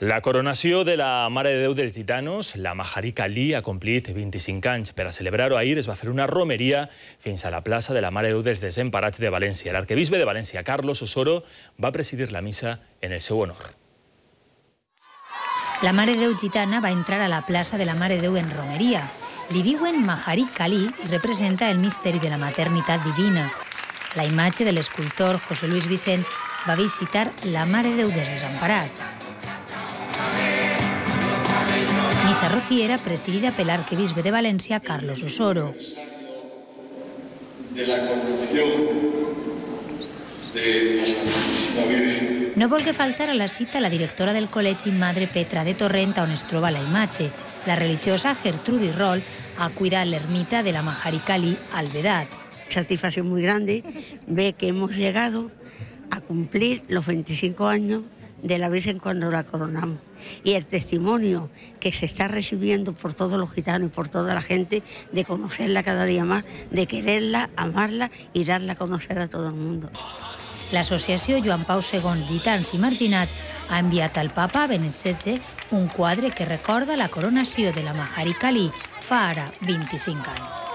La coronació de la Mare de Déu dels Gitanos, la Maharik Ali, ha complit 25 anys. Per a celebrar-ho ahir es va fer una romeria fins a la plaça de la Mare de Déu dels Desemparats de València. L'arquebisbe de València, Carlos Osoro, va presidir la missa en el seu honor. La Mare de Déu gitana va entrar a la plaça de la Mare de Déu en romeria. Li diuen Maharik Ali i representa el misteri de la maternitat divina. La imatge de l'escultor José Luis Vicent va visitar la Mare de Déu dels Desemparats. Missa rociera presidida per l'arquebisbe de València, Carlos Osoro. No volgué faltar a la cita la directora del Col·legi Madre Petra de Torrent, on es troba la imatge. La religiosa Gertrudis Roll ha cuidat l'ermita de la Maharik Ali al Vedat. Satisfacción muy grande ver que hemos llegado a cumplir los 25 años de la Virgen cuando la coronamos. Y el testimonio que se está recibiendo por todos los gitanos y por toda la gente de conocerla cada día más, de quererla, amarla y darla a conocer a todo el mundo. L'associació Joan Pau II Gitans i Marginats ha enviat al papa Benet XVI un quadre que recorda la coronació de la Maharik Ali fa ara 25 anys.